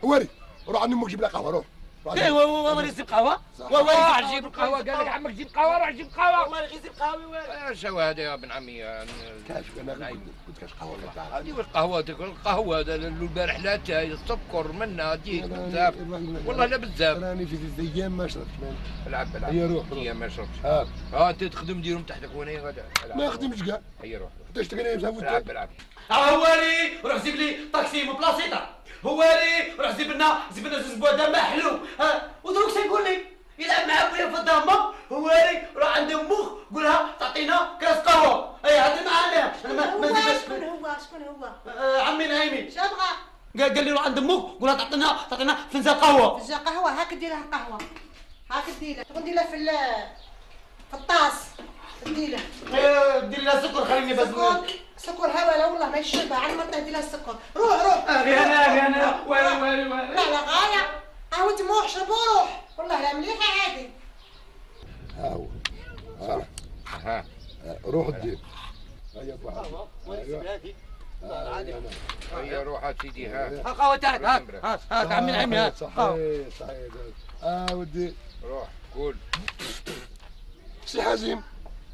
وري روح عند امك جيب لها قهوه روح. ايوا وري جيب قهوه. روح جيب القهوه قال لك عمك جيب قهوه روح جيب قهوه. والله غير جيب قهوه. شو هذا يا ابن عمي؟ كاش انا قلت كاش قهوه ايوا القهوه القهوه البارح لا السكر منها ديك بزاف والله لا بزاف. راني في ثلاث ايام ما شربتش. العب هيا روح ايام ما شربتش. انت تخدم ديرهم تحتك وانا غدا ما خدمتش كاع. هيا روح انت تقني بزاف العب. هواري روح جيب لي طاكسي من بلاصيطه. هواري روح جيب لنا زوج بوادة ما حلو. ودروك شنقول لي يلعب مع بويا في الدار. هواري روح عند امك قول لها تعطينا كاس قهوه. اي هذا معانا انا ما نجيبش. شكون هو عمي نايمي. شنو بغا؟ قال لي روح عند امك قول لها تعطينا فنجان قهوه. فنجان قهوه هاك دير لها قهوه هاك دير لها تقول دير لها في الطاس دير لها دير لها سكر خليني بس سكر هوا والله ما يشربها على مرتها دير لها السكر. روح انا ويلي لا غايه قهوة موح شربوا روح والله لا مليحه عادي. هاو ها روح دير. هيا هيا روح سيدي ها قهوه تاعك هاك عمي نعيمي هاك صحيح ودي روح قول سي حازم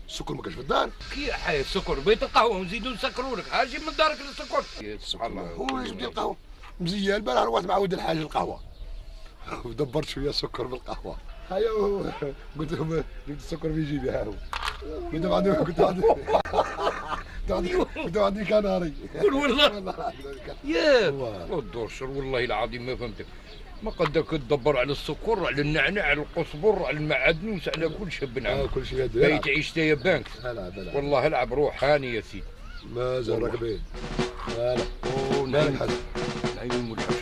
السكر ما كاش في الدار. كي حي السكر بيت القهوه ونزيدوا نسكروا لك هاجي من دارك السكر. سبحان الله هو جبت القهوه مزيان البارح روحت مع ولد الحاج القهوه ودبرت شويه سكر بالقهوه. هيا قلت لهم جبت السكر في جيبي ها هو كنت عندي كناري. قول والله يا الدرشر والله العظيم ما فهمتك. ما قدك تدبر على السكر على النعناع على القزبر على المعدنوس على كل شيء بنعم. كل شيء بيت عيش يا بانك. العب والله العب روح هاني يا سيدي. ما زهرك بيه. لا نايم حاجه نايم ولا حاجه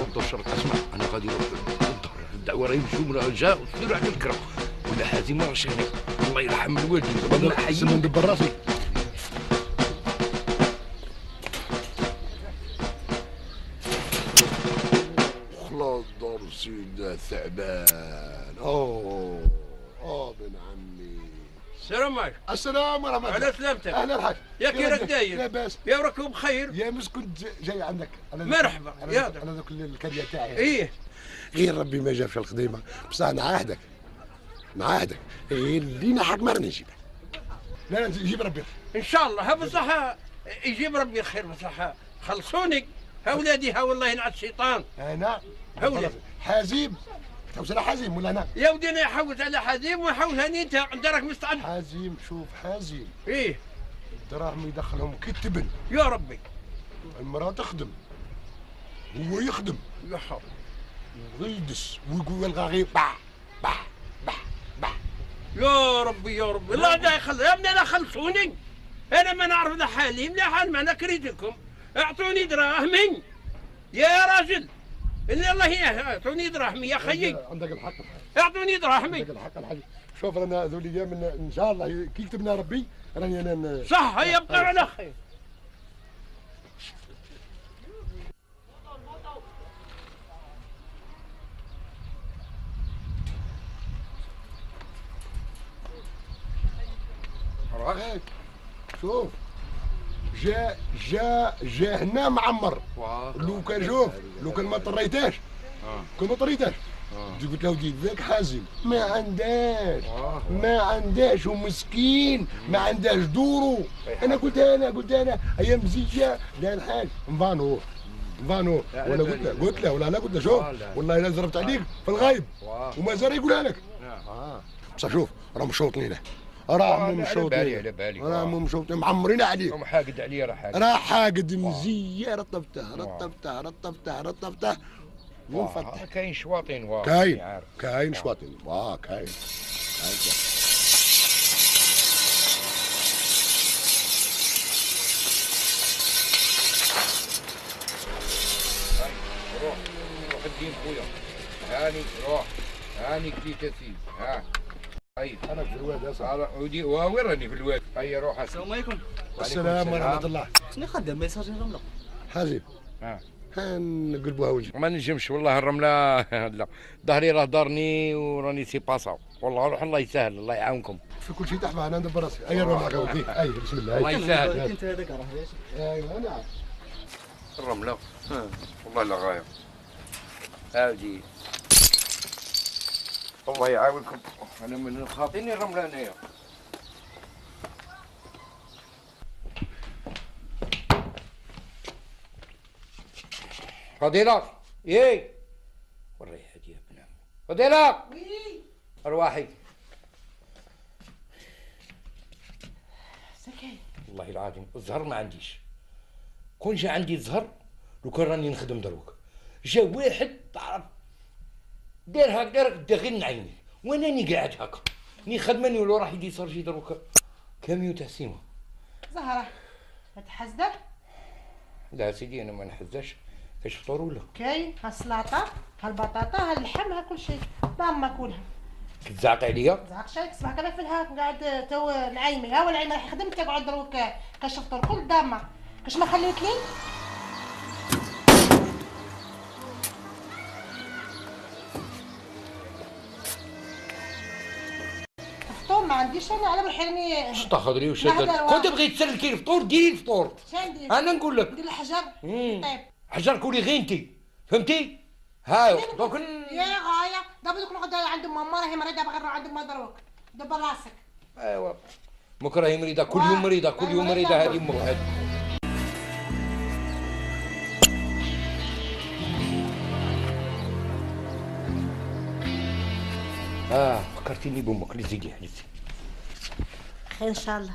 الدرشر اسمع انا غادي نروح للظهر الدعوه راهي يمشيو جا وسيروا على الكرا ولا حازم ما راهش هناك الله يرحم الوالدين انا حي ندبر راسي. خلاص دار سيدنا ثعبان. بن عمي. السلام عليكم. السلام ورحمة الله. على سلامتك. اهلا الحاج. يا كي راك داير؟ لاباس. يا راكم بخير؟ يا مس كنت جاي عندك. مرحبا. انا ذوك الكريه تاعي. ايه غير ربي ما جابش الخديمه بصح نعاهدك غير اللي نحق ما راني نجيبها. لا جيب ربي ان شاء الله. بصح يجيب ربي الخير بصح خلصوني ها ولادي ها والله ينعس الشيطان. انا هولي حازم تحوس على حازم ولا انا؟ يا ودي انا يحوس على حازم ويحوس هاني انت راك مستعد. حازم شوف حازم ايه الدراهم يدخلهم كتبن يا ربي. المراه تخدم هو يخدم يا حرام ويدس ويقول يلقى غير بح يا ربي يا ربي. الله لا يخلص يا ابني لا خلصوني. انا ما نعرف ذا حالي ملي حال معنا كريتكم اعطوني دراهمي يا راجل اللي الله اعطوني دراهمي يا خيي. عندك الحق اعطوني دراهمي. عندك الحق الحاج. شوف رانا ذو الايام ان شاء الله كي كتبنا ربي راني انا صح يبقى على خير. شوف جا هنا معمر. لو كان شوف لو كان ما طريتاش قلت له ودي ذاك حازم ما عنداش ومسكين ما عنداش دورو. انا قلت انا هي مزيه لا الحاج نفانو ولا قلت له ولا لا قلت له شوف والله الا زربت عليك في الغايب ومازال يقولها لك. بصح شوف راهم مشوطين راهم مشوطين معمرين عليك. حاقد عليا راه حاقد مزيه رطبته ونفتح. كاين شواطين كاين شواطين كاين. روح الدين خويا هاني هاني كليت سيدي ها. طيب انا في الواد يا صاحبي. ودي وين راني في الواد. هيا روح. السلام عليكم. السلام ورحمه الله. شنو خدام ميساج الرمله؟ حازم نقلبوها وجهك. ما نجمش والله الرمله لا ظهري راه دارني وراني سي باساو والله روح الله يسهل الله يعاونكم. في كل شيء تحفه انا ندبر راسي. اي الرمله ودي بسم الله. الله يسهل. انت هذاك راه ايوه نعم. الرملة والله لا غاية. هادي الله يعاونكم، انا من خاطيني الرملة هنايا. فضيلة ايه وري هادي يا ابن عمي. فضيلة وي ارواحي. سكاي والله العظيم الزهر ما عنديش. كون جا عندي الزهر لو كان راني نخدم دروك، جا واحد تعرف دار هكذا بدا غير نعيني واناني قاعد هكا ني خدماني ولو راح يدي صرجي دروك كاميو تاع سيما. زهرة ما تحزدك؟ لا سيدي انا ما نحزاش. كاش فطور ولا؟ كاين ها السلطة ها البطاطا ها اللحم ها كل شيء ضامة كلها. كتزعق عليا؟ زعق شايك صباح كذا في الها قاعد تو نعيمي ها والعيمة راح خدمت تقعد دروك كاش فطور كل ضامة كاش ما خليت لي؟ الفطور ما عنديش انا على بالحرمي. اش تاخذري وش كنت بغيت تسلكي الفطور ديري الفطور. شندير؟ انا نقول لك ندير الحجر. طيب حجر كولي غير انتي فهمتي؟ هاي دوك يا غاية دابا دوك نقعد عند ماما راهي مريضة باغي نروح عند ما دروك دبر راسك. ايوا مك راهي مريضة كل يوم مريضة كل يوم مريضة هذه امك. فكرتيني بامك لزيدي حلتي. خير ان شاء الله.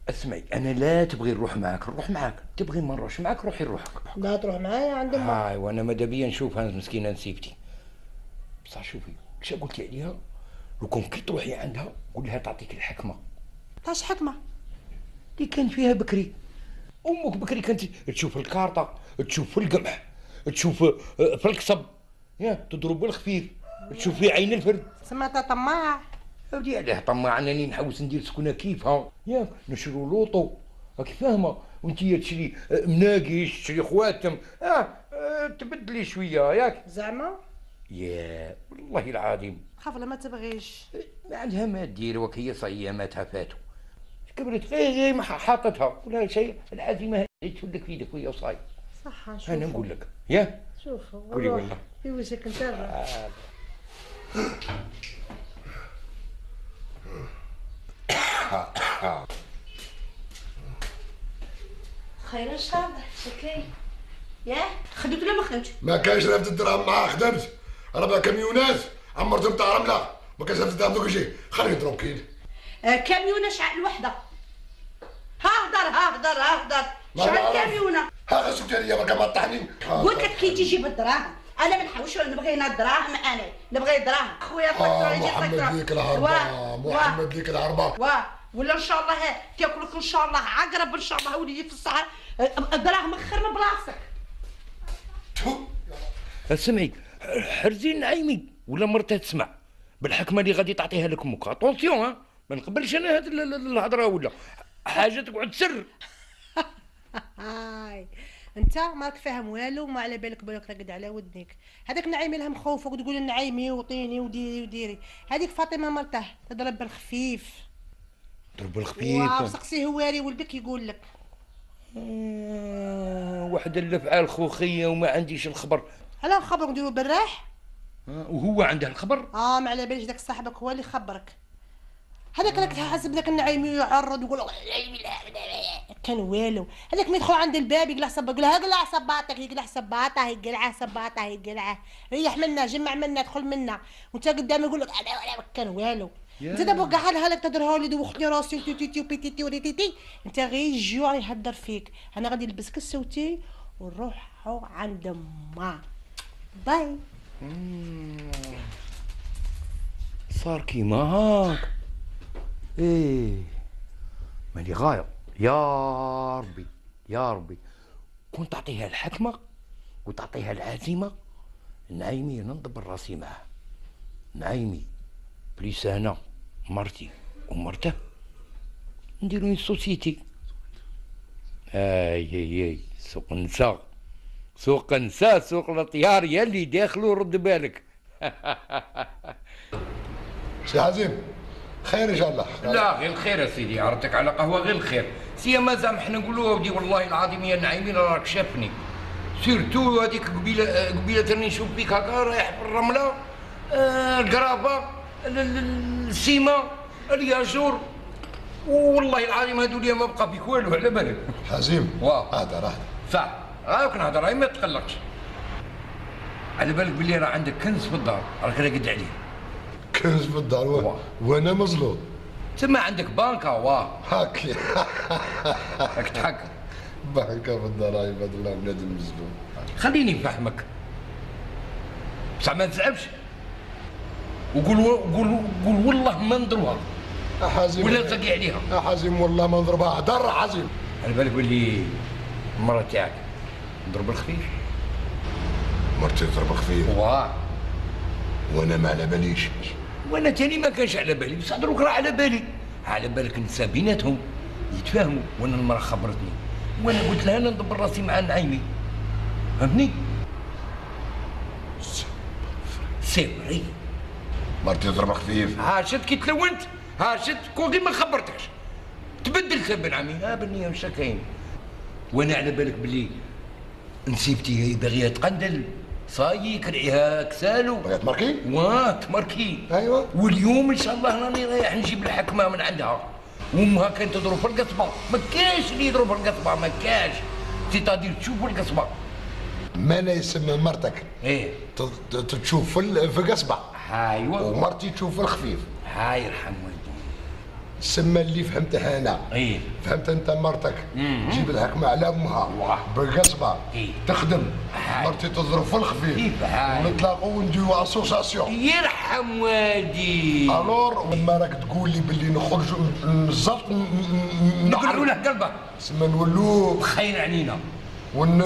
اسمعي انا لا تبغي نروح معاك نروح معاك، تبغي ما نروحش معاك روحي لروحك. لا تروح معايا عند امك. هاي وانا ماذا بيا نشوفها مسكينه نسيبتي. بصح شوفي كش قلت لي عليها لو كون كي تروحي عندها قول لها تعطيك الحكمه. تاش حكمه؟ اللي كان فيها بكري. امك بكري كانت تشوف الكارطه تشوف في القمح تشوف في القصب يا تضرب بالخفيف تشوف في عين الفرد. سمعتها طماع. ودي علاه طماع انني نحوس ندير سكونه كيفها ياك نشرو لوطو راكي فاهمه وانتي تشري مناقيش تشري خواتم تبدلي شويه ياك زعما؟ يا والله العظيم خاف لا ما تبغيش. ما عندها ما دير وك هي صياماتها فاتوا كبرت غير ما حاطتها ولا شيء العزيمه هذه تفلك في يدك وهي وصاي. صح نشوف انا نقول لك يا شوف قولي والله في وجهك نتابع. خير ان شاء الله. شكاي ياه خديت ولا ما خديتش؟ ما كانش رافد الدراهم معاه خدمت 4 كاميونات عمرتهم تاع رمله ما كانش رافد الدراهم دوك شي خليه يضرب كيل. كاميونه شحال الوحده؟ هدر شحال كاميونه؟ ها سكتي عليا ما كان طحني. قلت لك كي تجي بالدراهم انا ما نحوش نبغي انا الدراهم انا نبغي الدراهم خويا محمد ليك الهربه محمد ليك الهربه ولا ان شاء الله تاكلك ان شاء الله عقرب ان شاء الله وليدي في الصحراء الدراهم خير من بلاصتك. سمعي حرزي نعيمي ولا مرتها تسمع بالحكمه اللي غادي تعطيها لك امك. اتونسيون ما نقبلش انا هاد الهضره ولا حاجه تقعد سر. هاي انت ماك فاهم والو ما على بالك بالك راقد على ودنك. هذاك نعيمي لها مخوفك وتقول نعيمي وطيني وديري هذيك فاطمه مرته تضرب بالخفيف. ضرب الخفيف وسقسي هواري ولدك يقول لك. واحد الافعال خوخيه وما عنديش الخبر. علاه خبرك نديرو بالراح؟ وهو عنده الخبر؟ ما على باليش داك صاحبك هو اللي خبرك. هذاك راك حاسب لك النعيمي يعرض ويقول كان والو. هذاك ما يدخل عند الباب يقلع صباطك يقول لها قلع صباطك يقلع صباطه يقلعه صباطه يقلعه ريح منا جمع منا دخل منا وانت قدامي يقول لك انا كان والو. انت دابا قاعد لك تهضر لي دوختني راسي تي بيتي وريتيتي انت غير الجوع يهدر فيك. انا غادي نلبسك السوتي ونروحو عند ما باي. صار كيما هاك ايه ماني غاية. يا ربي يا ربي كون تعطيها الحكمة وتعطيها العزيمة. نعيمي انا ندبر راسي معاه. نعيمي بليس انا مرتي ومرته نديرو سوسيتي. اي سوق النساء سوق النساء سوق الاطيار يلي داخلو رد بالك. سي حزيم خير ان شاء الله. لا غير الخير يا سيدي، عرضتك على قهوه غير الخير، سيما زعما حنا نقولوا ودي والله العظيم يا نعيمين راك شافني، سيرتو هذيك قبيله راني نشوف بيك هكا رايح في الرمله، القرابه، السيما، الياجور، والله العظيم هذو لي ما بقى فيك والو على بالك. حزيم واه اهدر صح، هاك نهضر هاي ما تقلقش. على بالك باللي راه عندك كنز في الدار راك راقد عليه. كنز في الدار وانا مظلوم. تما عندك بانكا واه هاكي راك تحكم. بانكا في الدار عباد الله بنادم مظلوم. خليني نفهمك بصح ما تزعبش وقول والله ما ندروها حازم ولا تزقي عليها. حازم والله ما نضربها، هدر حازم. على بالك باللي المرة تاعك نضرب الخفيف. مرتي تضرب خفيف واه وانا ما على باليش. وانا تاني ما كانش على بالي، بصح دروك راه على بالي. على بالك النساء بيناتهم يتفاهموا، وانا المرة خبرتني وانا قلت لها انا ندبر راسي مع نعيمي، فهمتني؟ سي فري. مرتي تضرب خفيف. ها شفت كي تلونت، ها شفت كون غير ما خبرتكش تبدلت بن عمي. ها بني واش كاين. وانا على بالك بلي نسيبتي باغيه تقندل صاي كرعيها كسالو بغيت ماركي؟ واه تماركي. ايوا واليوم ان شاء الله راني رايح نجيب الحكمه من عندها، وامها كانت تضرب في القصبه، ما كاش اللي يضرب في القصبه، ما كاش. سيتادير تشوف القصبه ما لا يسمى مرتك ايه تشوف في قصبه. ايوا ومرتي تشوف في الخفيف. هاي يرحم والديك. السما اللي فهمتها انا. ايه فهمت انت مرتك تجيب الحكمه على امها واه. بالقصبه. إيه. تخدم. هاي. مرتي تضرب في الخفيف. كيف هاي. ونتلاقوا ونديروا اسوساسيون. يرحم والدي. الور لما راك تقول لي باللي نخرجوا بالضبط نقلعوا له قلبه سما نولوا خير علينا ون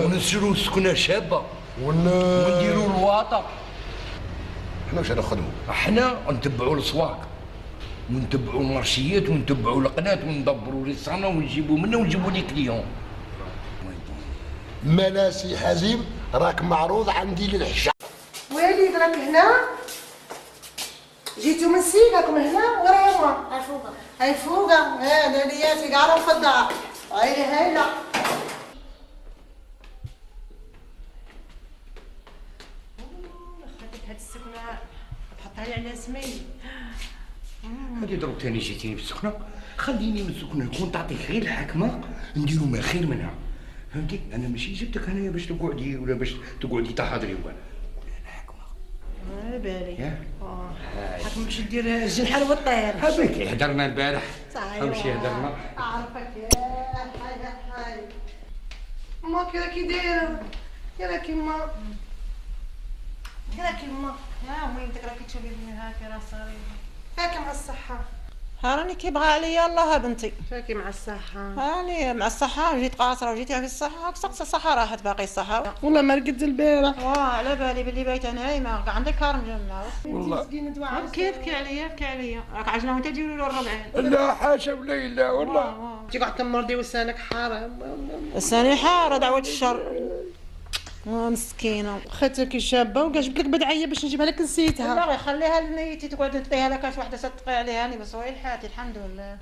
ونسيروا سكنه شابه ون ونديروا الواطه. احنا واش نخدموا؟ احنا نتبعوا الاسواق ونتبعوا المارشيات ونتبعوا القناه وندبروا ريستوران ونجيبوا منه ونجيبوا لي كليون. ملاسي حزيم راك معروض عندي للحشا. والد راك هنا؟ جيتو من سيكاكم هنا؟ ورا يما؟ هاي فوقه. هاي فوقه، ليلياتي قاعدة في الدار. هايلي هايلا. خديت هاد السكنة تحطها لي على سمي. هذه ضرب ثاني جيتيني بالسخنه، خليني من السخنه نكون تعطيك غير الحكمه نديروا ما خير منها، فهمتي؟ انا ماشي جبتك هنايا باش تقعدي ولا باش تقعدي تحضري ولا الحكمه. على بالي. ياك؟ حكم باش دير الجنحة والطير. هذاك هدرنا البارح. صحيح. امشي هدرنا. اعرفك هاي ما كي راكي دايره؟ كي راكي ما؟ كي راكي ما؟ يا امي انت راكي تشوفي بني هاكي راه صغير. فاكي مع الصحة. راني كيبغى عليا الله بنتي. فاكي مع الصحة. راني مع الصحة جيت قاصرة وجيت في الصحة، سقس الصحة راحت باقي الصحة. والله ما رقدت البارح. واه على بالي باللي بايتة نايمة، عندك كارم جنة. والله بكي عليا راك عجلة وانت تجيبي له الربعين. لا حاشا ولا لا والله. انت قاعد تمرضي وسانك حرام. لساني حارة دعوة الشر. مسكينة. خاتك شابة وكاع جبت لك بدعية باش نجيبها لك نسيتها. لا خليها لنيتي تقعد تطيها لك كاش وحدة تطي عليها انا بس وين حياتي الحمد لله.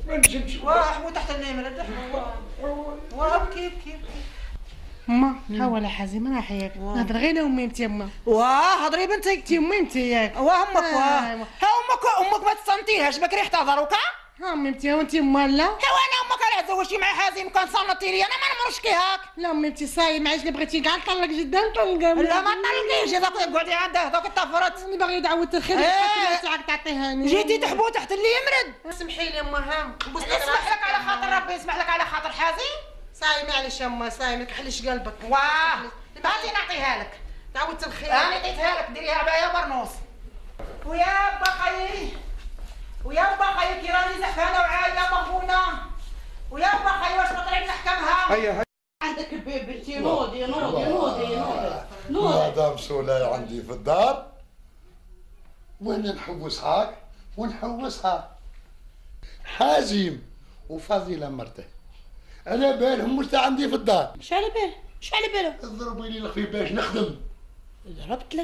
ما نجمش. واه حمو تحت النمرة واه بكي. ما حاول حازم انا حياك نهضر غير امي انت يما. واه هضري بنتي. انت امي انت ياك. واه امك ها امك ما تصنتيهاش بكري احتضروكا. ها امي انت وانت يما لا. وانا امك راه تزوجتي مع حازم كان صنتي لي انا ما نمرش كي هاك. لا امي انت صاي ما عادش بغيتي كاع نطلق جدا نطلقها. لا ما طلقيش هذاك قعدي عنده هذاك طفرت. انا باغي دعوة الخير تاعك تعطيهاني. جيتي تحبو تحت اللي يمرد. سمحي لي اما ها. يسمح لك على خاطر ربي يسمح لك على خاطر حازم. صاي معليش اما صاي ما تحلش قلبك. واه هاتي نعطيها لك. دعوة الخير. انا عطيتها لك ديريها بعيا برنوس. ويا بقاي كي راني زحفانه وعايله مغبونه. ويا بقاي واش نطلع نحكمها. هيا عندك بنتي نوضي. مدام سولاي عندي في الدار وانا نحوسهاك ونحوسها. حازم وفضيلة مرته على بالهم واش عندي في الدار. شو على باله؟ ضربوا لي الخفيف باش نخدم. ضربت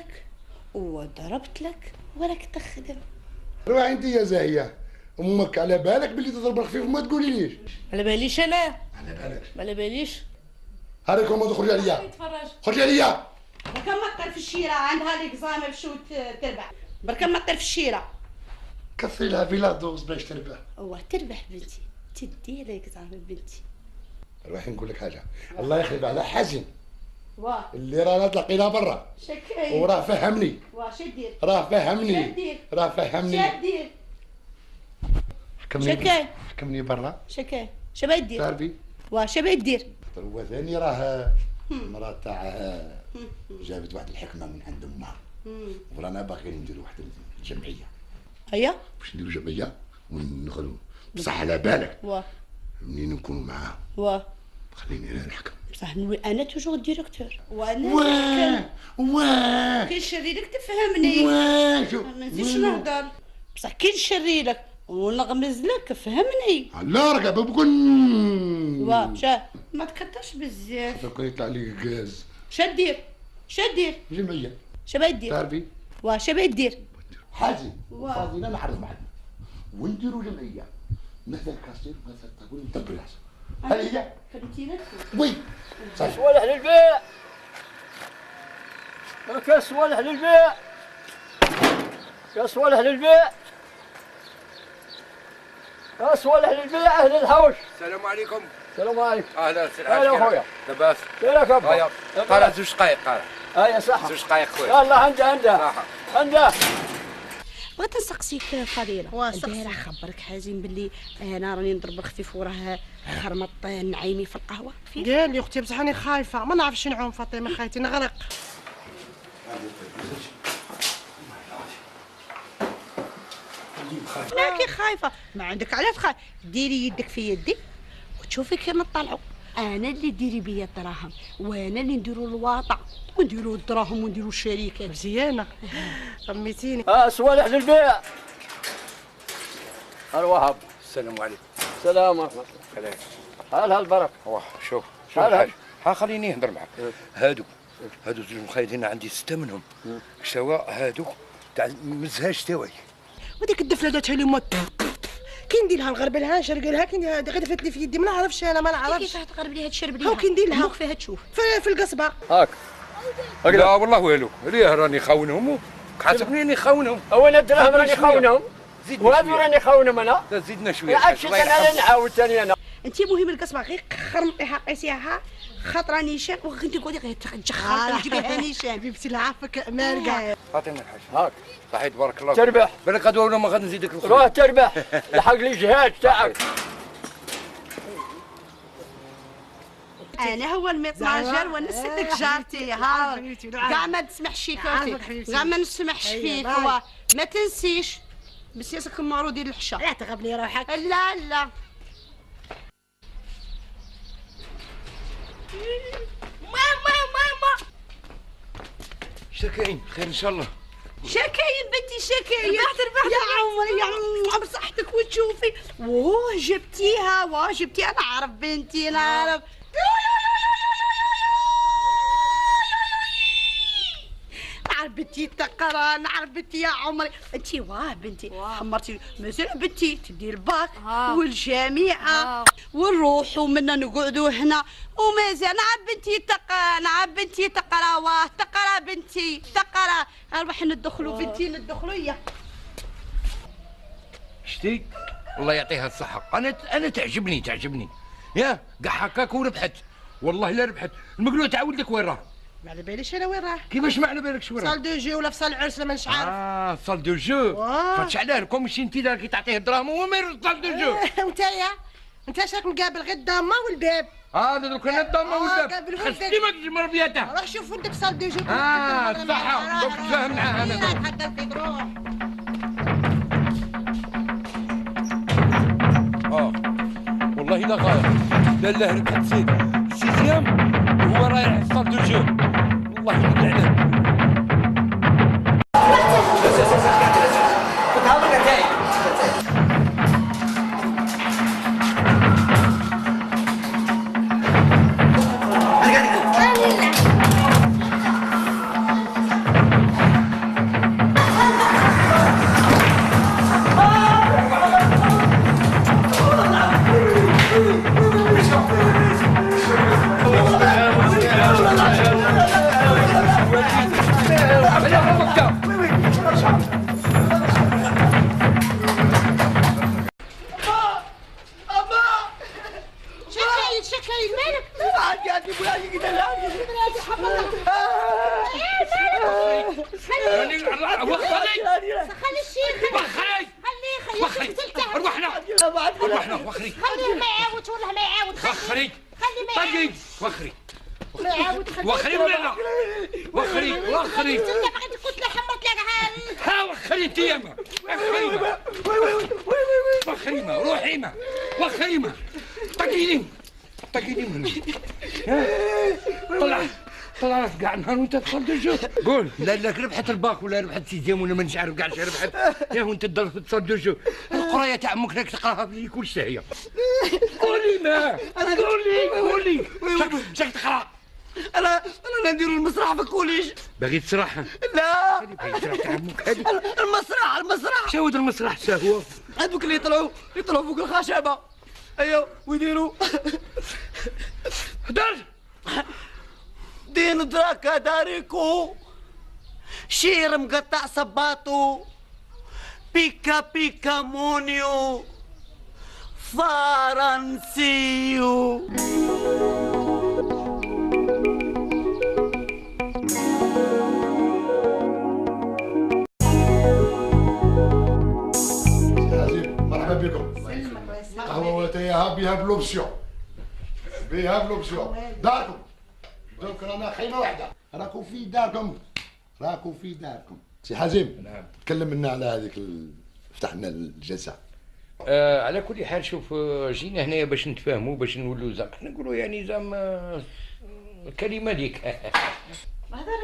لك وراك تخدم. روح انت يا زاهيه، امك على بالك باللي تضرب الخفيف وما تقوليليش. على باليش انا. على بالك. ما على باليش. هاريك ما تخرج عليا. خرج عليا. بركا ما طير في الشيره، عندها ليكزام باش تربح. بركا ما طير في الشيره. كثري لها في لا دوز باش تربح. تربح بنتي، تدي ليكزام بنتي. روحي نقول لك حاجه، الله يخلف على حزن واه اللي رانا تلاقينا برا شكاين وراه فهمني. واه شدير راه فهمني. شدير راه فهمني. شدير حكمني شكاين حكمني برا. شكاين شبا يدير تعرفي واه شبا يدير. هو ثاني راه مرات تاعها جابت واحد الحكمه من عند امها ورانا باغيين نديروا واحد الجمعيه. هيا باش نديروا جمعيه وندخلوا بصح على بالك واه منين نكونوا معاها واه خليني انا نحكم. بصح انا توجور الديريكتور وانا واه كي نشري لك تفهمني. شوف ما نزيدش نهضر بصح كي نشري لك ونغمز لك فهمني. الله راه بكون واه شا ما تكترش بزاف. كون يطلع لي غاز. شدير شدير جمعيه شبا يدير تعرفي واه شبا يدير حازم وفاضينا نعرض معنا ونديروا جمعيه مثل كاستير مثل تقول ندبر راسه. هل هي؟ فهمتينا وي صحيح. صوالح للبيع. كاس صوالح للبيع. كاس صوالح للبيع. كاس صوالح للبيع اهل الحوش. السلام عليكم. السلام عليكم. اهلا اهلا خويا. لاباس. كيفك ابا؟ هيا قرا زوج دقايق قرا. هيا صحة. زوج دقايق خويا. يلا عنده بغيت نسقسيك فضيله. البارح خبرك حازم باللي انا راني نضرب الخفيف وراه خرمط نعيمي في القهوه. قال لي اختي بصح راني خايفه ما نعرفش نعوم فاطمه خايتي نغرق. ماكي خايفه ما عندك علاش تخاف. ديري يدك في يدي وتشوفي كي نطلعوا. انا اللي ديري بيا الدراهم وانا اللي نديروا الواطه ونديروا الدراهم ونديروا الشركات. مزيانه رميتيني. صوالح للبيع. الوهاب. السلام عليكم. السلام ورحمة الله. هل هالبركة. واه شوف الحاج خليني نهضر معك. هادو زوج مخيدين عندي 6 منهم سواء هادو تاع مزهاج تاوي. وديك الدفله داتها لي موت كي ندير لها نغرب لها نشرق لها كي ندير غير دفلت لي في يدي ما نعرفش انا ما نعرفش كيفاش تقرب ليها تشرب ليها. هاو كي ندير لها فيها تشوف في القصبه هاك. لا والله والو ريه راني خاونهم حاسبني راني خاونهم. وانا الدراهم راني خاونهم وهذو راني خاونهم انا. زيدنا شويه. عرفتي انا نعاود ثاني انا. انت مهم القصبه غير خرمطيها قيسيها خاطره نيشان وكنتي تقولي غير تجخر تجيبيها نيشان. حبيبتي العافك مالكه. فاطمه الحاج. هاك صحيت بارك الله. تربح. بالك غدوه ولا ما غادي نزيدك الخير. روح تربح. لحق لي الجهاز تاعك. انا هو الميطناجر وانا سدك جارتي. ها كاع ما تسمحش فيك كاع ما نسمحش فيك. هو ما تنسيش بسياسك المارو ديال الحشا. لا تغبني روحك. لا لا ماما شكاين خير ان شاء الله. شكاين بنتي شكاين. يا عمري يا عمر بصحتك وتشوفي. واه جبتيها واه جبتيها. نعرف بنتي نعرف. نعرف بنتي تقرا نعرف بنتي يا عمري. انت واه بنتي حمرتي مازال بنتي تدي الباك والجامعه ونروحوا منا نقعدوا هنا ومازال. نعرف بنتي تقرا نعرف بنتي تقرا واه تقرا بنتي تقرا. نروح ندخلوا بنتي ندخلوا يا شتي الله يعطيها الصحه. انا تعجبني يا كاع هكاك وربحت والله لا ربحت. المقلوع تاع ولدك وين راه؟ ما على باليش انا وين راه. كيفاش ما على بالكش وين راه؟ صال دو جو ولا في صال العرس لما نش عارف. صال دو جو. فاتش علاه لكم ماشي انت راكي تعطيه الدراهم هو ما يرد صال دو جو. وانتايا انت شاك مقابل غير الدامه والباب. دوك انا الدامه والباب خصني ما تجمر بياتها. روح شوف ولدك صال دو جو. صح دوك تفاهم معاه انا. تحضر فيك روح. والله لا غاية لا لا ربحت سيزيام وهو رايح صال دو جو. والله يلعنك. عندي بلادي كده لا بلادي حمرا خلي الشيخ خليه روحنا وخري خليه ما يعاودش والله ما يعاود وخري خليه ما يعاود وخري ولا لا وخري انت بغيت كنت حمرت لك ها وخري انت ياما وخري ما روحي ما وخري ما طقيني من طلع راسك كاع نهار وانت تصدجو قول لا ربحت الباك ولا ربحت سيزيام ولا مانيش عارف كاع شي ربحت يا وانت تصدجو القرايه تاع امك راك تقراها في كل شيء قولي ما قولي شاك تقرا انا ندير المسرح في الكوليج باغي تسرح لا تاع امك هذه المسرح شاود المسرح شهوه هذوك اللي يطلعوا فوق الخشبه ايوا ويديروا هدر دين دراكا داريكو شير مقطع صباطو بيكا مونيو فرنسيو مرحبا بكم. قهوة وتايها بها بلوبسيون داركم دوك رانا خيمة واحدة راكم في داركم سي حازم. نعم. تكلم لنا على هذيك فتحنا الجلسة. على كل حال شوف جينا هنايا باش نتفاهموا باش نولوا زعما احنا نقولوا يعني زعما كلمة ليك هذا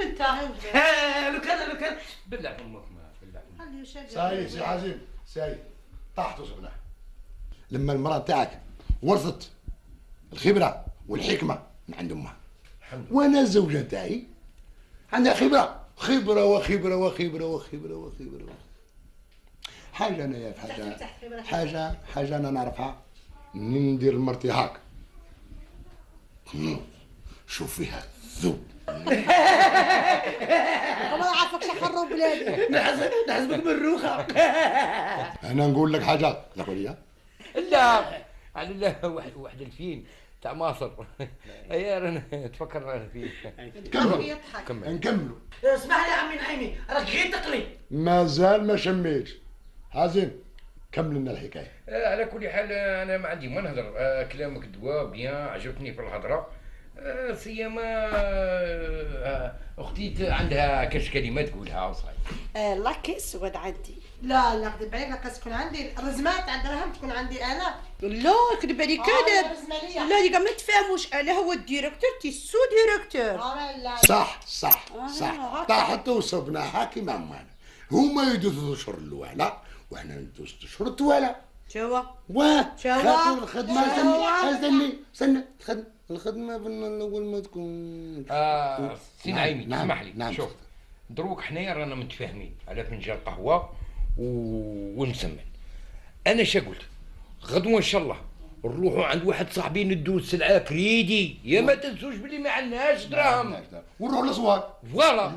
انت لو كان بالله امك ما بالله ساي سي حازم ساي طاحتوا سبنا لما المرأة تاعك ورثت الخبرة والحكمة من عند امها وانا الزوجة تاعي عندها خبرة حاجة انا يا حاجة انا نعرفها ندير مرتي هاك شوف فيها ذوب ما عارفك شحروا بلادي نحسبك بالروخه. انا نقول لك حاجة تقول لي لا على الله واحد الفيلم تاع مصر يا رانا تفكر رانا فيه نكملوا اسمح لي يا عمي نعيمي راك غير تقلي مازال ما شميتش حازم كمل لنا الحكايه. على كل حال انا ما عندي ما نهضر كلامك دواء بيان عجبتني في الهضره سيما اختي عندها كاش كلمات تقولها وصاي. لا كيس ود عندي لا كذب عليك لا تكون عندي الرزمات عند راهم تكون عندي انا لا كذب عليك كذب لا اللي ما تفهموش انا هو الديريكتور تي سو ديريكتور صح طاحت وصبناها كيما مانا هما يدوزوا الاشهر الاولى وحنا ندوز الاشهر الطوالى شوا خاطر الخدمه استنى الخدمه في الاول ما تكون سي نعيمي اسمح لي نعم. شوف دروك حنايا رانا متفاهمين على فنجان قهوه ونسمن انا شا قلت غدوه ان شاء الله نروحوا عند واحد صاحبي ندوز سلعه كريدي يا ما تنسوش بلي ما عندناش دراهم ونروحوا للاسواق فوالا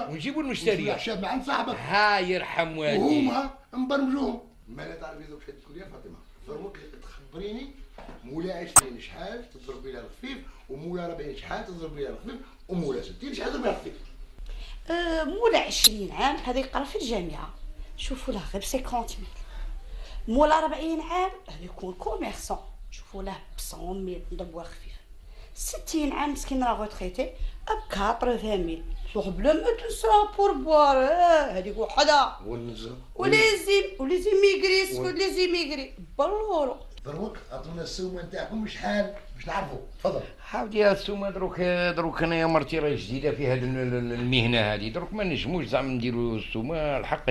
ونجيبوا المشتريه الشاب مع صاحبك ها يرحم والديك وهما نبرمجوهم ما لا تعرفي ذوك شحال تقول يا فاطمه ضربك تخبريني مولا 20 شحال تضربي لها الخفيف ومولا 40 شحال تضربي لها الخفيف ومولا 60 شحال تضربي لها الخفيف. مولا 20 عام هذا يقرا في الجامعه شوفوا له غير 50,000 مولا 40 عام هذا يكون كوميرسون شوفوا له ب 100,000 نضربوها خفيف 60 عام مسكين راه غوتريتي ب 80,000 شوف بلا ما تنسى بور بوار هذيك وحده ولي زيميغري بالورو دروك عطونا السومه نتاعكم شحال باش نعرفوا تفضل. حاولي يا السومه دروك انا يا مرتي راهي جديده في هذه المهنه هذه دروك ما نجموش زعما نديروا السومه الحق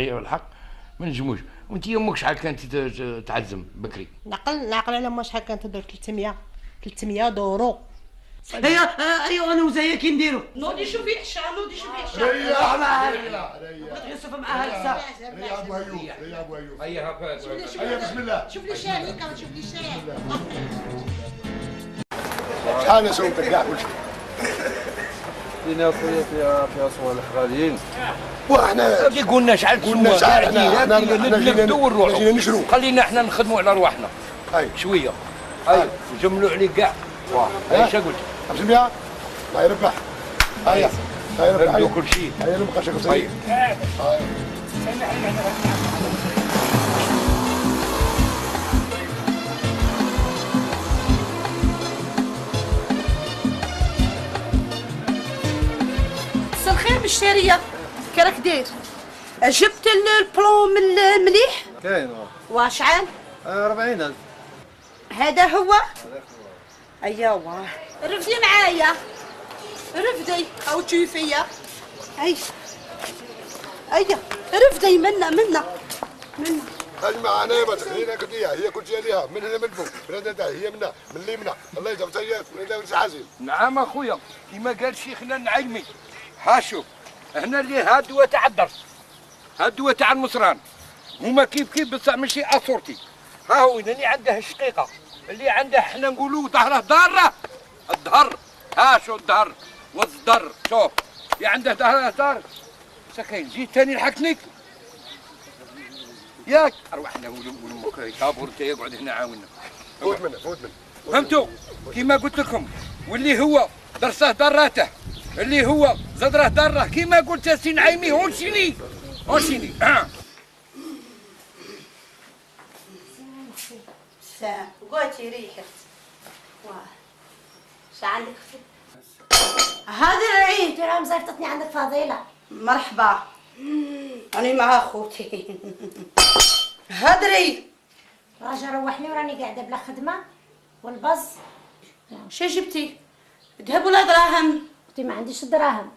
ما نجموش. وانت يمك شحال كانت تعزم بكري؟ نعقل على ما شحال كانت تدير 300 دورو. ايوا انا وزايا كي نديرو نوضي شوفي عشا ريح بغيت يوسف معاها لسا ريح ابو ايوب هيا هاكا هيا بسم الله شوف لي شاي هكا شوف لي شاي شحال نسومتك كاع كلشي لينا خويا فيها صوالح غاليين وحنا كي قلنا شحال قلنا شحال احنا نبداو نروحوا جينا نشرو خلينا احنا نخدموا على رواحنا هاي شويه هاي نجملوا عليك كاع واه اش قلت؟ 500 الله يربح. هيا يربح نبدو كل شيء. هيا نبقى شكل صغير. مساء الخير بالشارية، كي راك داير؟ جبت البلون مليح؟ كاين وشحال؟ 40,000. هذا هو؟ ايوا رفدي معايا، رفدي او تشوفيا. ايا رفدي منا اجمع انا ما تخلينا كديه هي كل شيء ليها من هنا من فوق من هنا هي منا من اللي منا الله يجزاك سيئات من هنا حازم. نعم اخويا كيما قال شيخنا النعيمي. ها شوف هنا اللي هادوه تاع الدرس هادوه تاع المصران هما كيف بصح ماشي اسورتي. ها هو اللي عنده الشقيقه اللي عنده حنا نقولوا ظهره ضاره الظهر. ها شو الظهر والصدر شوف اللي عنده ظهره دار سكين جيت ثاني لحقتني ياك ارواحنا ولمك كابور انت يقعد هنا عاونا. فوت منه فهمتوا كيما قلت لكم. واللي هو درسه دراته اللي هو زدره دره كيما قلت يا سي نعيمي هونشيني سام قوتي ريحت. شو عندك اختي؟ هذا العيد راهم زرتني عندك فضيلة. مرحبا. أنا مع أخوتي. هدري. راجل روحني وراني قاعدة بلا خدمة والبز. شو جبتي؟ ذهب ولا دراهم؟ اختي ما عنديش دراهم.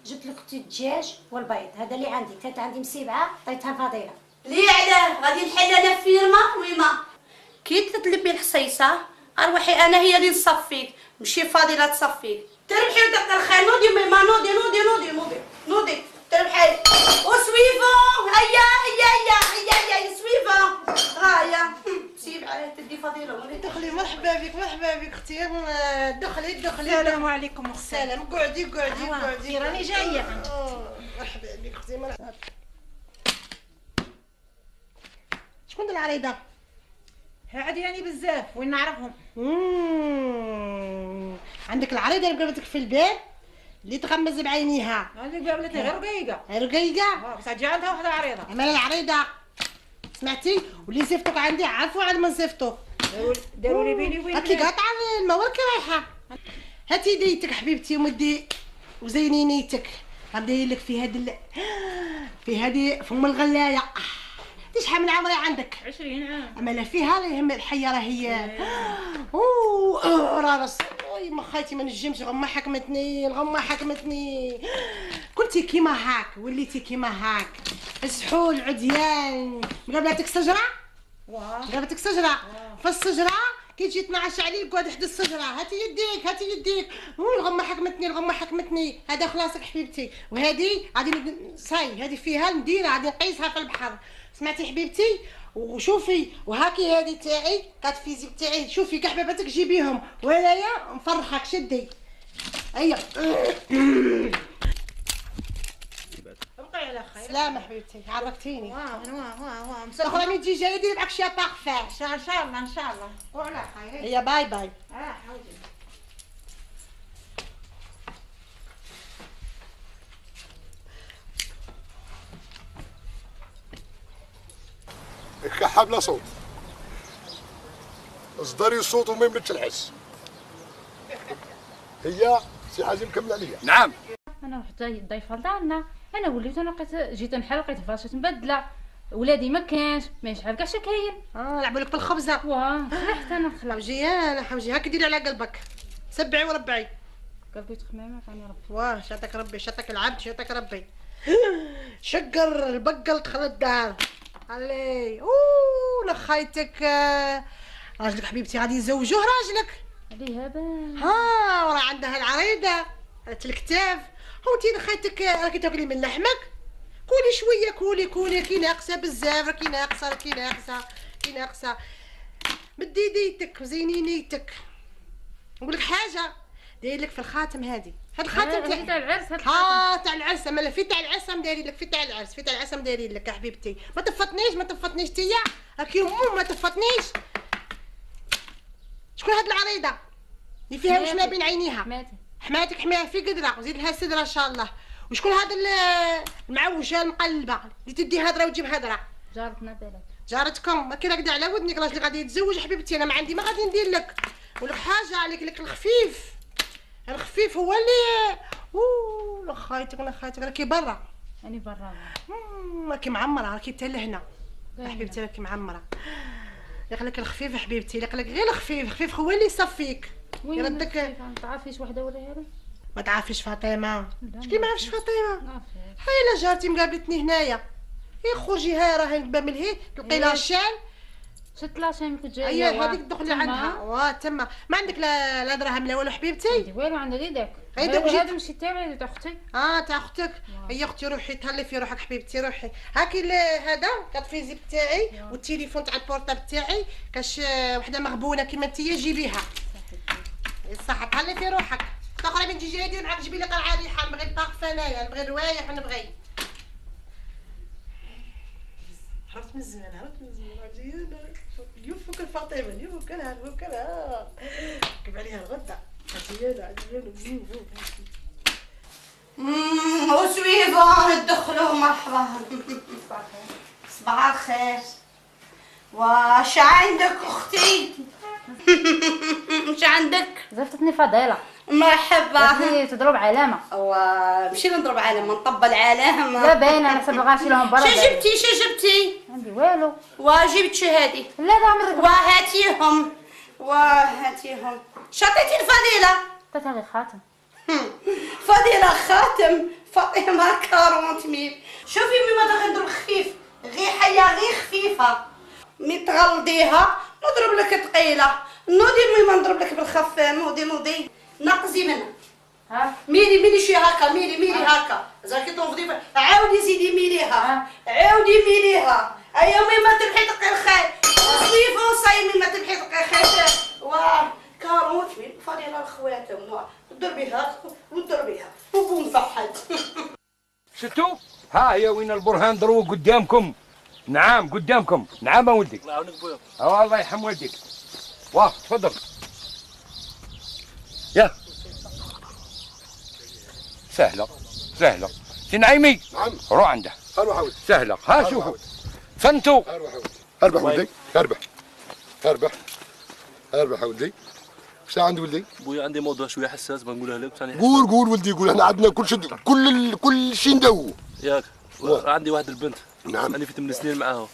جبت لك اختي الدجاج والبيض هذا اللي عندي. كانت عندي مسيبعة عطيتها فضيلة. ليه علاه؟ غادي نحل أنا فيرما ويما. كي تطلبي الحصيصة أروحي أنا هي اللي نصفيك ماشي فاضلة تصفيك. تربحي ودق الخير نوضي ميما نوضي تربحي وسويفون. هيا سويفون. هيا سيب عليه تدي فضيلة. دخلي. مرحبا بك اختي. دخلي. السلام عليكم اختي. السلام. قعدي راني جاية. مرحبا بك اختي. شكون العريضة؟ هادي يعني بزاف وين نعرفهم. عندك العريضة اللي قابلتك في الباب اللي تغمز بعينيها. اللي قابلتني غير رقيقة. رقيقة؟ بصح جا عندها وحدة عريضة. اما العريضة سمعتي واللي صيفطوك عندي عارفوا عاد ما صيفطوك. داروا لي بيني وبين هاتلي قاطعة الموال كي رايحة. هاتي يديتك حبيبتي ومدي وزيني نيتك. غندير لك في هذه فم الغلاية. شحال من عمري عندك؟ 20 عام. اما لا فيها لا يهم الحيه راهي. راس ما خايتي ما نجمش. الغمه حكمتني. كنتي كيما هاك وليتي كيما هاك. السحول عديان مقابلتك شجره. مقابلتك شجره. في الشجره كي تجي تنعش عليه قعد حدا الشجره. هاتي يديك. الغمه حكمتني. هذا خلاصك حبيبتي. وهذه غادي صاي هذه فيها نديرها غادي نقيسها في البحر. سمعتي حبيبتي؟ وشوفي وهاكي هذه تاعي كات فيزيك تاعي. شوفي كاع حباباتك جيبيهم وهنايا نفرحك. شدي هيا. بقي على خير. سلامة حبيبتي عرفتيني. واه اخرى مين تجي جايه ديري معاك شي بارفان. ان شاء الله. وعلى خير. هيا باي. حوجي. كحة بلا صوت. اصدري الصوت وما يملكش الحس. هي سي حازم كمل عليا. نعم. انا وحده ضيفه لدارنا. انا وليت انا لقيت جيت نحل لقيت فراشات مبدله. ولادي ما كانش ما يشعل كاع شكاين. لعبوا لك بالخبزه. فرحت انا خلاص. حوجي هاك ديري على قلبك. سبعي وربعي. قلبي تخمامه ثاني ربي. شاتك ربي شاتك العبد شاتك ربي. شقر البقل دخل الدار. علي لخايتك. راجلك حبيبتي غادي يزوجوه راجلك. عليها وراه عندها العريضه الكتاف. انتي لخايتك راكي تاكلي من لحمك. كولي شويه كولي كي ناقصه بزاف. راكي ناقصه. مدي يديتك وزيني نيتك. نقول لك حاجه داير لك في الخاتم هذه. هاد الخاتم تاع العرس. تاع العرس. اما في تاع العرس دايرين لك. في تاع العرس دايرين لك يا حبيبتي. ما تفطنيش تيا. راكي ما تفطنيش. شكون هاد العريضه؟ اللي فيها واش ما بين عينيها. حماتي حماتك حماها في قدره وزيد لها سدره ان شاء الله. وشكون هذا المعوجه المقلبه اللي تدي هضره وتجيب هضره؟ جارتنا بالك. جارتكم ما كاين كدا على ودنك راجلي غادي يتزوج حبيبتي. انا ما عندي ما غادي ندير لك ولك حاجه عليك. لك الخفيف، الخفيف هو اللي لا خايتك ولا خايتك راكي برا. راني برا راكي معمره راكي حتى لهنا حبيبتي راكي معمره. يقلك الخفيف حبيبتي يقلك غير الخفيف. الخفيف هو اللي يصفيك يردك. ما تعرفيش وحده ولا هذا؟ ما تعرفيش فاطمه؟ شكي ما عرفش فاطمه؟ هاي لا جارتي مقابلتني هنايا. خرجي هاي راهي الباب من هي تلقي لها الشال. شت لاشين كنت جايه. اييه هذيك دخلي عندها تما. ما عندك لا دراهم لا والو حبيبتي؟ عندي والو عندي داك. هذا ماشي تاعي تاع اختي. تاع اختك. هي اختي روحي تهلي في روحك حبيبتي روحي. هاكي هذا كطفيزي بتاعي والتليفون تاع البورطاب تاعي كاش وحده مغبونه كيما انتيا جيبيها. صح تهلي في روحك. تقرا من تجي جايه معاك جيبي لي قرعه ريحه. نبغي الطاقف انايا نبغي الروايح نبغي. هربت من زمان عجيبه. يوفك الفاطمه يوفك لها يوفك لها. كيف عليها الغدا عجيبه. وسويفون ندخلوا مرحبا. صباح الخير. واش عندك اختي؟ اش عندك؟ زفتني فضيله. مرحبا. تضرب علامه. ماشي نضرب علامه نطبل علامه. لا باينه انا حسب غنمشي لهم برا. شجبتي؟ عندي والو. وجبت شهادي؟ لا عمرك. وهاتيهم. شطيتي الفضيله؟ عطيتها غير خاتم. فضيله خاتم. فاطمه 40,000. شوفي مما تاخذ نضرب خفيف غير حيه غير خفيفه. مي تغلضيها نضرب لك ثقيله. نوضي مما نضرب لك بالخف. نوضي نقزي منها. ميلي شي هكا. ميلي هكا زاكي تنفضي. عاودي زيدي ميليها. عاودي ميليها. ايا مما تلحي تلقي الخير. صيفو صاي مما تلحي تلقي خير. كاروت فضيله الخواتم. ضربيها وضربيها وبوم فحد. شفتوا؟ ها هي وين البرهان ضربوا قدامكم. نعم قدامكم. نعم ولدي. الله يعاونك بويا. الله يرحم والديك. واه تفضل. يا سهلة سي نعيمي. نعم. روح عنده. اروح اولد. سهلة. ها شوفوا. فهمتوا؟ اربح ولدي. اربح ولدي. واش عندي ولدي؟ بويا عندي موضوع شويه حساس بنقولها لك. قول ولدي قول. احنا عندنا كل شيء ندوو. ياك عندي واحد البنت. نعم. انا في 8 سنين معاها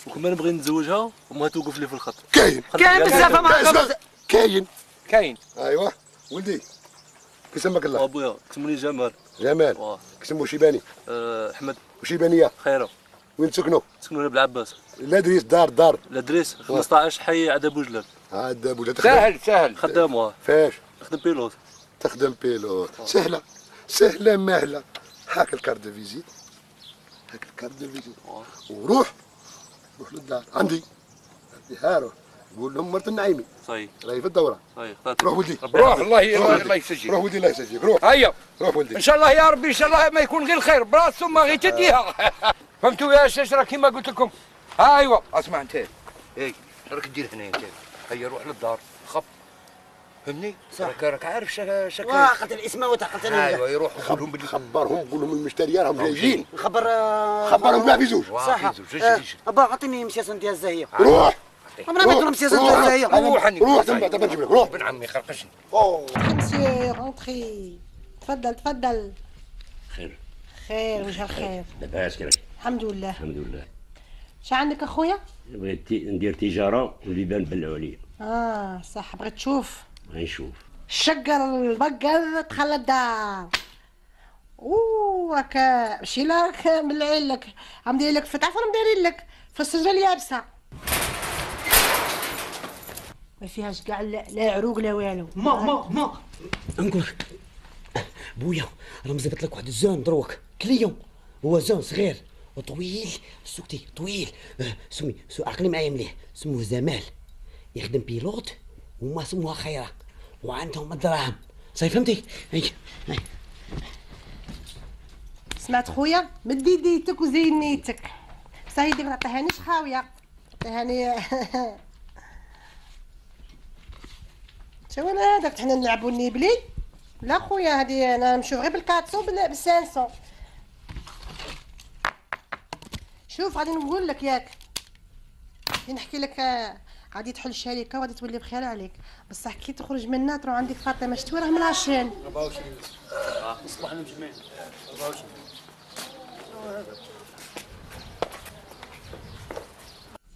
وكما نبغي نتزوجها وما توقف لي في الخط. كاين بزاف. كاين. ايوا ولدي كيسمك الله؟ ابويا كسموني جمال. كسمو شيباني. احمد. وشيبانيه خيره. وين تسكنوا؟ تسكنوا بالعباس. الادريس دار. الادريس 15 حي عدا بوجلاب. عدا بوجلاب. سهل. خدام. فاش؟ نخدم بيلوت. تخدم بيلوت. سهله ماهله. هاك الكارت دو فيزيت. وروح للدار عندي هاروح قول لهم مرت النعيمي. صحيح. راهي في الدوره. صحيح. روح ولدي. روح الله يسجيك. روح ولدي الله يسجيك. روح. هيا. روح ولدي. ان شاء الله يا ربي ان شاء الله ما يكون غير خير براسو ما غير تديها. فهمتوا يا الشجره كيما قلت لكم. ايوا اسمع انت. راك دير هنا انت. هيا روح للدار خب. فهمني؟ راك عارف شكل. قتل الاسماء وتقتل. ايوا يروح قولهم باللي خبرهم قول لهم المشتريين راهم جايين. خبرهم كاع في زوج. صح. ابا عطيني مسياسه ديال الزاهيه. روح. عمرنا ما يديروا مسياسه ديال الزاهيه. روح تما دابا نجيب لك. روح. ابن عمي خرقشني. مسيو رونتري. تفضل. خير وجه الخير. لاباس كيفك؟ الحمد لله. الحمد لله. اش عندك اخويا؟ بغيت ندير تجاره وليبان بلعوا عليا. صح بغيت تشوف. غنشوف. الشقر البقر دخل الدار. راك ماشي راك ملعين لك. عم داير لك فتح فرم دايرين لك في السجره اليابسه. ما فيهاش كاع لا عروق لا والو. ما نقول لك بويا راه مزبط لك واحد الزون دروك كليون. هو زون صغير وطويل. سكتي طويل. سمي عقلي معايا مليح. سموه زمال. يخدم بيلوت وما سموها خيره وعندهم الدراهم. صاي فهمتي؟ هاي سمعت خويا مد يديتك وزين نيتك. سايدي ما عطيهانيش خاويه. عطيهاني تا ولا هذاك حنا نلعبوا النيبلي؟ لا خويا هذه انا نمشيو غير بالكاتسو بالسانسون. شوف غادي نقول لك ياك، غادي نحكي لك، غادي تحل الشركه وغادي تولي بخير عليك، بصح كي تخرج منها تروح عندك فاطمه شتوي راه من العشان. 24 اصبحنا مجمعين 24.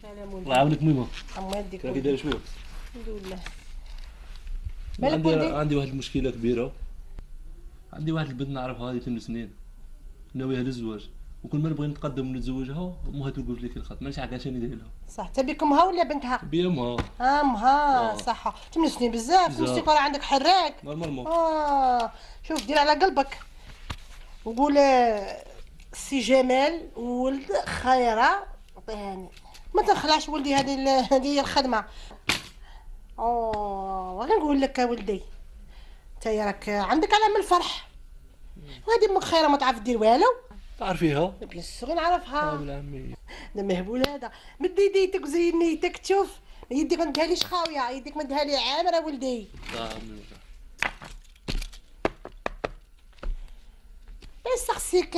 سلام الله يعاونك ميمه. الله يديك. كي داير شويه؟ الحمد لله. مالك ولدي؟ عندي واحد المشكله كبيره. عندي واحد البنت نعرفها هذه 8 سنين ناويها للزواج، وكل ما نبغي نتقدم ونتزوجها امها توقف لي في الخط، مانيش عارف عشان ندير لها. صح انت بك امها ولا بنتها؟ بيا امها. امها صح. 8 سنين بزاف، نسيت راه عندك حراك. نورمالمون. شوف دير على قلبك وقول سي جمال ولد خيره عطيهاني، ما تنخلعش ولدي، هذه هي الخدمه. غادي نقول لك ولدي نتايا راك عندك علامه الفرح، وهذه امك خيره ما تعرف دير والو. تعرفيها؟ بيان سور نعرفها. بالعمي ده مهبول هذا، مد يديتك وزين نيتك، تشوف يديك ما نديهاليش خاويه، يديك ما نديهالي عامره ولدي. يسخسيك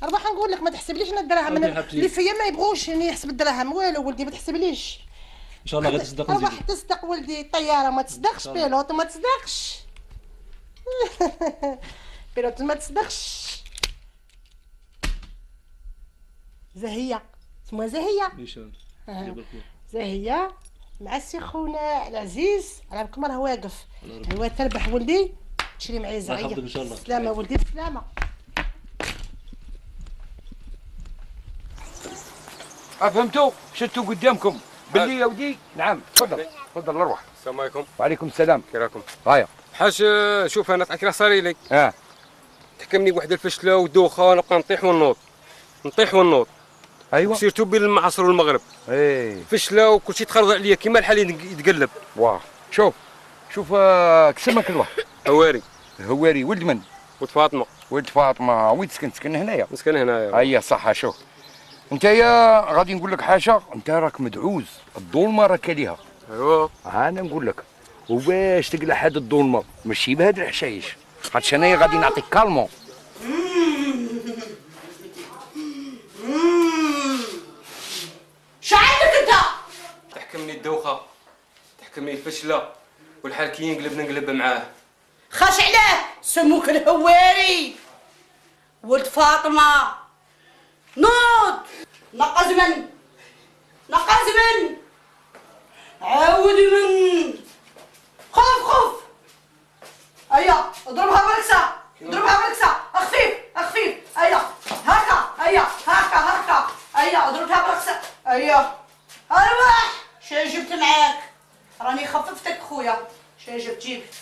ربح نقول لك ما تحسبليش انا الدراهم، اللي فيا ما يبغوش اني يحسب الدراهم والو ولدي، ما تحسبليش. ان شاء الله غادي تصدق. ربح تصدق ولدي، طياره ما تصدقش، بيلوط ما تصدقش. بيلوط ما تصدقش. زهية اسمها زهية. نيشان. زهية مع السي خونا العزيز، على بالكم راه واقف، هو تربح ولدي، تشري معايا زغية. ان شاء الله. سلامة ولدي بسلامة. فهمتوا؟ شفتوا قدامكم باللي يا ودي. نعم تفضل تفضل اروح. السلام عليكم. وعليكم السلام. كي راكم؟ غايه. حاج شوف انا تعرف كي صاري لي. تحكمني بواحد الفشله ودوخه، نبقى نطيح ونوض نطيح ونوض. ايوا سيرتو بين المعصر والمغرب. فشله وكلشي تخرج عليا كيما الحال يتقلب. واه شوف كسمك الواحد. هواري ولد من؟ ولد فاطمه. ولد فاطمه. وين تسكن هنايا؟ نسكن هنايا. هيا صح. شوف انتيا غادي نقول لك حاجه، انت راك مدعوز، الظلمه راك ليها. ايوا انا نقول لك، وباش تقلع هاد الظلمه ماشي بهاد الحشايش، خاطش انايا غادي نعطيك كالمون. شو عندك انت؟ تحكمني الدوخه، تحكمني الفشله، والحال كي ينقلب نقلب معاه. خاش عليه سموك الهواري ولد فاطمه. نوض نقز من عاود من خف ايا اضربها بركسه خفيف ايا هكا ايا اضربها بركسه ايا. ارواح شنو جبت معاك؟ راني خففتك خويا. شنو جبت؟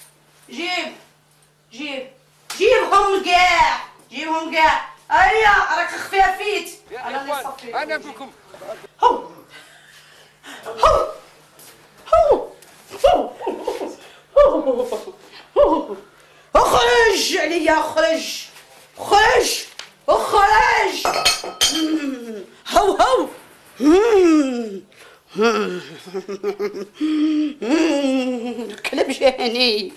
جيبهم كاع ايا راك خفافيت. انا بكم اخرج عليا، اخرج هو كلب جاني.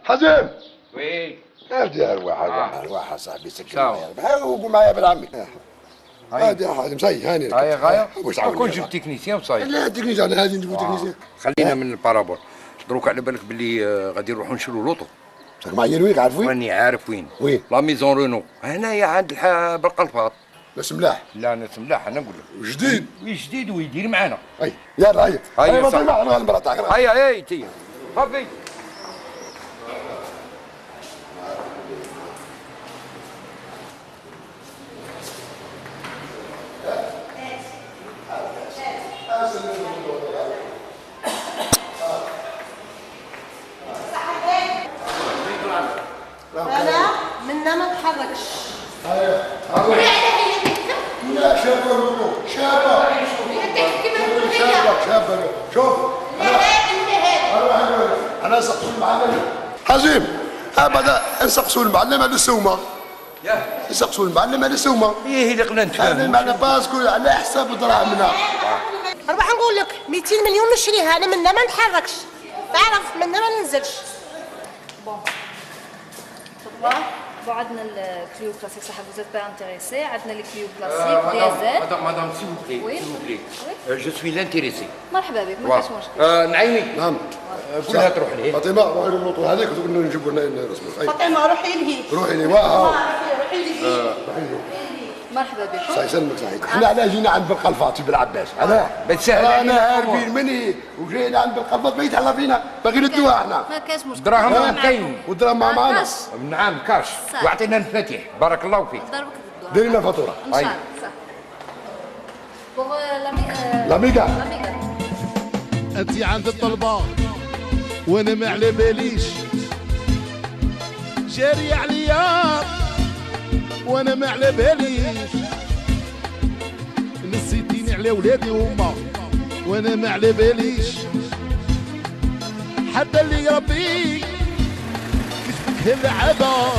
حزم. وي ارجع الواحد صاحبي سكر معايا وقول معايا ابن عمي. هادي يا حازم صاي هاني لك. هاي غايه كون جبت تكنيسيان وصاي. لا تكنيسيان هادي نجيبو تكنيسيان. خلينا من البارابول. دروك على بالك باللي غادي نروحو نشرو لوطو. راك معايا وين عارف وين؟ راني عارف وين. لا ميزون رونو هنايا عند بالقنفاط. ناس ملاح. لا ناس ملاح انا نقول لك. جديد ويدير معانا. اي يلا هيا هيا صح. انا المرا تاعك. هيا تي صافي. نحركش. لا شابه شابه شابه شوف انا نسقسوا المعلم حزيم ابدا نسقسوا المعلم على السومه نسقسوا المعلم على السومه ايه اللي قلنا نتفاهموا المعلم باسكو على حساب دراهمنا. نروح نقول لك 200 مليون نشريها انا منها ما نتحركش تعرف منها ما ننزلش. Bon, عندنا الكليو كلاسيك صح vous êtes pas intéressé عندنا الكليو كلاسيك ديزل. مدام s'il vous plaît s'il vous plaît je suis l'intéressé. مرحبا بك ما كاش مشكل. نعيمي نعم قولها تروح ليه. فاطمه روحي للوطو هذيك نجيبوا لنا الرسمي. فاطمه روحي لهي. روحي لي واه روحي لهي. مرحبا بك. الله يسلمك سعيد. احنا علاه جينا عند بالقلفاطي بالعباس علاه بتسهل انا عارفين مني وجينا عند بالقلفاط بيت على فينا باغي ندوها احنا. ما كاش مشكل. دراهم كاين والدراهم معنا. نعم كاش واعطينا المفاتيح بارك الله فيك. ديري لنا فاتوره. ان شاء الله. بوغ لاميغا انت عند الطلبه وانا ما على باليش جاري عليا وانا ما على باليش نسيتيني على ولادي وما وانا ما على باليش حتى اللي ربي كتبك اللعابه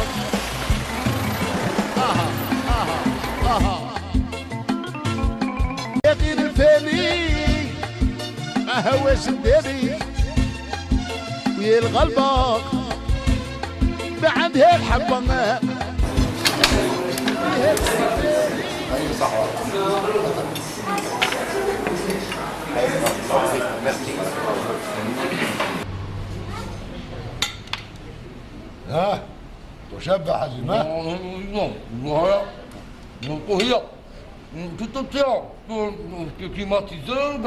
يا غير الفاني ما هواش نداري ويا الغلبه ما عندها الحبه ها تشبع حزين ها؟ هي كليماتيزور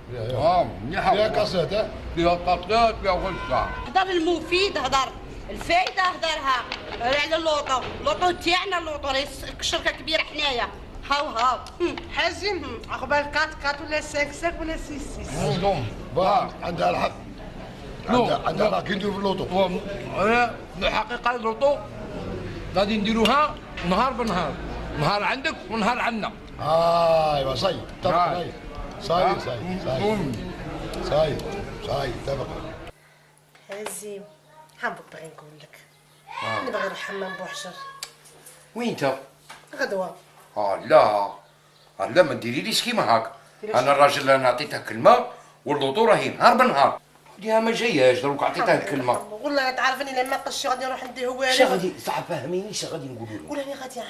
كاع مليحه فيها كاسات ها؟ فيها كاسات فيها غشة. هدر المفيد هدر الفايده هدرها على اللوطو تاعنا اللوطو راهي شركه كبيره حنايا هاو حازم عقبال 4 ولا 5 ولا 6 عندها الحق عندها الحق كي نديرو في اللوطو. الحقيقه اللوطو غادي نديروها نهار بنهار نهار عندك ونهار عندنا. ايوا صاي اتفقنا صاي اتفقنا. حازم حابك بغي نقول لك نبغي نروح حمام بوحجر. وين انت؟ غدوه. لا ما ديريليش كيما هاك. انا الراجل انا عطيته كلمه واللوطو راهي نهار بنهار. ديها ما جاياش دروك عطيته الكلمه. والله تعرفني لما قلت غادي نروح نديه هو شا غادي صح فهميني شا غادي نقولوا له. قول راني غادي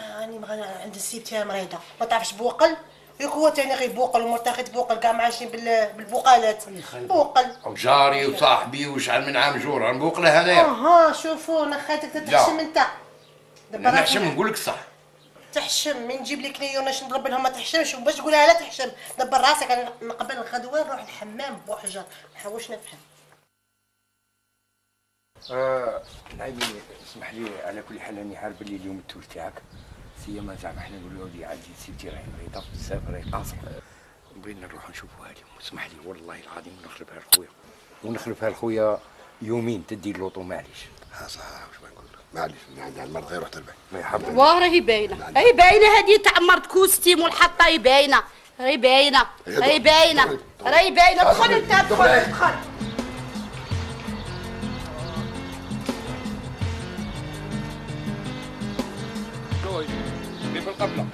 عند السيب تاعي مريضه ما تعرفش بوقل ياك هو تاني غير بوقل ومرتخي بوقل كاع عايشين بالبوقالات بوقل وجاري وصاحبي وشحال من عام جور نبوقله هذايا. شوفوا انا خايتك تحشم انت دابا نحشم نقول لك صح تحشم من نجيب لك كليوناش نضرب لهم ما تحشمش وباش تقولها لا تحشم دبر راسك انا قبل الغدوه نروح الحمام بوحجر ما نحاولش نفهم. نعيمي اسمح لي على كل حال راني عارف بلي اليوم التول تاعك سيما زعما حنا نقولوا ولدي عندي سيبتي راهي مريضه بزاف راهي قاصره بغينا نروحوا نشوفوها اليوم. اسمح لي والله العظيم ونخلفها لخويا يومين تدي اللوطو معليش. صح واش نقول لك معليش عندها المرض غير روح تربح. ما يحب واه راهي باينه هذه تاع مرض كوستيم والحطه راهي باينه دخل انت دخل. بالقبله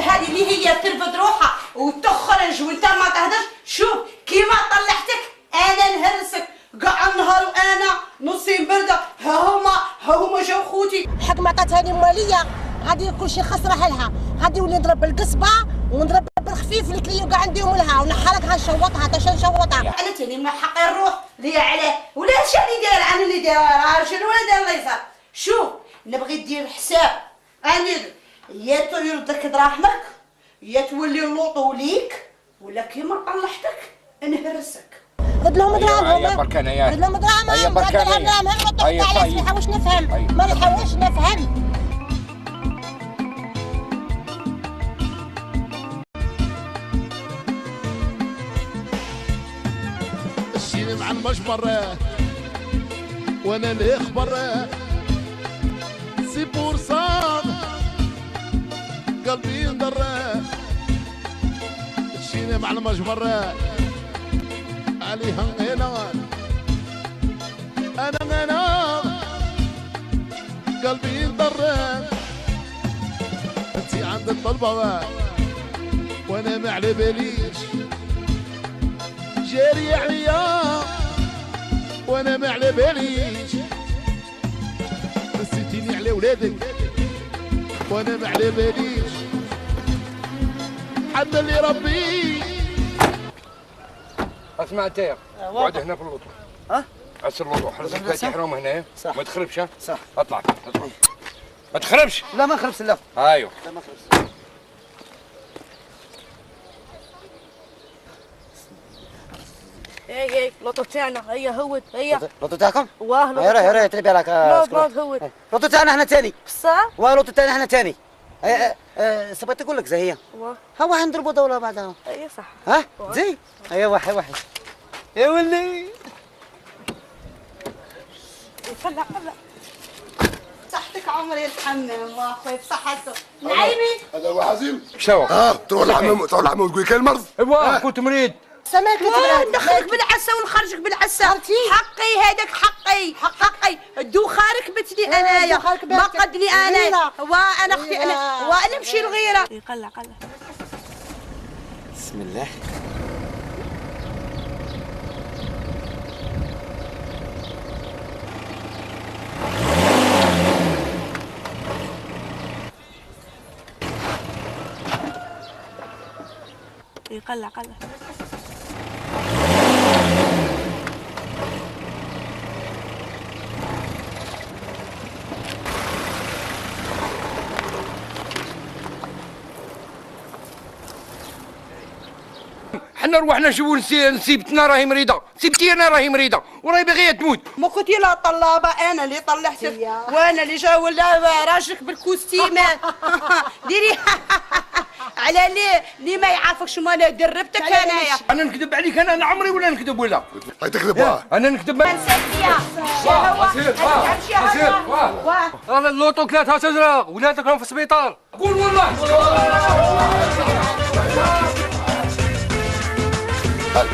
هذه اللي هي ترفد روحها وتخرج وانت ما تهدرش. شوف كيما طلعتك انا نهرسك كاع النهار وانا نصي برده. ها هما جاو خوتي حق ما عطاتها لي ماليه غادي كلشي خسره حالها غادي نولي نضرب بالقصبه ونضرب بالخفيف الكليو كاع نديهم لها ونحرك غنشوطها حتى نشوطها. انا تاني ما حقي نروح ليا عليه ولا شاني داير انا اللي داير شنو ولا داير الله يسر. شوف نبغي دير حساب انا يا يردك دراهمك يا تولي اللوطو ليك ولا كيما طلعتك نهرسك. رد لهم دراهمهم. هيا برك انايا. رد لهم دراهمهم. هيا برك انايا. هيا طيب. ما نحاولش نفهم. ما نحاولش نفهم. الشيني مع المجبر وانا الاخبر سي بورصان قلبي ينضر. الشيني مع المجبر عليها انا قلبي ينضر. انتي عند الطلبة وانا ما على باليش جاري عليا وانا ما على باليش. نسيتيني على ولادك وانا ما على باليش. حد اللي ربي. اسمع انت اقعد هنا في اللوطو. ها؟ عسر اللوطو حرز الفاتح راهم هنا. صح. ما تخربش. ها؟ صح. اطلع ما تخربش. لا ما نخربش لا. ايوه. لا ما نخربش. اي اللوطو تاعنا هيا هود هيا. اللوطو تاعكم؟ واه هيا راه هيا تربي عليك. هود. اللوطو تاعنا احنا ثاني. بصح؟ واه اللوطو تاعنا احنا ثاني. سبقت نقول لك زي هي. واه. هو نضربوا دولة بعدها. اي صح. ها؟ زي؟ هيا واحد. يا ولي. طلع. صحتك عمري الحمام واخوي بصحته. نعيمي. هذا هو حزين. شو؟ تروح للحمام وتقول كاين مرض. ايوا كنت مريض. سماك ندخلك بالعسه ونخرجك بالعسه. حقي هذاك حقي الدوخه ركبتني انايا ما قدني انايا وانا اختي انا وانا نمشي الغيره. قلع بسم الله. قلع. حنا روحنا نشوفوا نسيبتنا راهي مريضه، سيبتي انا راهي مريضه وراهي باغيه تموت. ما كنتي لا طلابه انا اللي طلعتك وانا اللي جا ولا راجلك بالكوستيمات. ديري على ليه ما يعرفكش ما انا دربتك انايا. انا نكذب عليك انا عمري ولا نكذب ولا؟ هاي تكذب. انا نكذب. انا اللوطو 3 تزرق ولادك راهم في السبيطار. قول والله. هاي